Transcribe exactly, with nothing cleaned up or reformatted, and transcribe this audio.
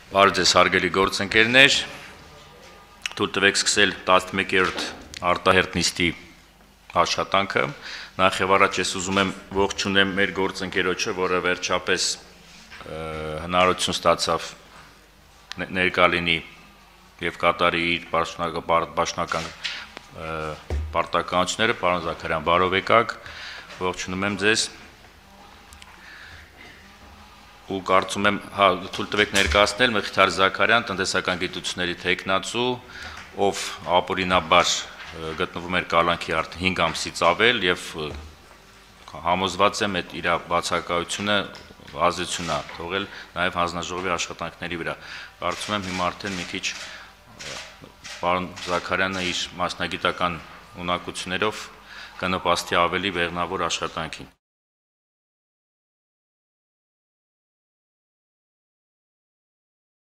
Բարև ձեզ հարգելի գործընկերներ, թույլ տվեք սկսել տասնմեկերորդ արտահերթ նիստի աշխատանքը։ Նախ եւ առաջ ես ուզում եմ ողջունել մեր գործընկերոջը, որը վերջապես հնարավորություն ստացավ ներկա լինի եւ կատարի իր պաշտոնական պարտականությունները, պարոն Զաքարյան, բարով եկաք, ողջունում եմ ձեզ։ Ու կարծում եմ, հա, թույլ տվեք ներկայացնել Մխիթար Զաքարյան, տնտեսական գիտությունների թեկնածու, ով ապօրինաբար գտնվում էր կալանքի արդեն հինգ ամսից ավել եւ համոզված եմ, այդ իր բացակայությունը ազդեցություն է թողել նաեւ հանձնաժողովի աշխատանքների վրա։ Կարծում եմ հիմա արդեն մի քիչ պարոն Զաքարյանը իր մասնագիտական ունակություններով կնպաստի ավելի բեղմնավոր աշխատանքին։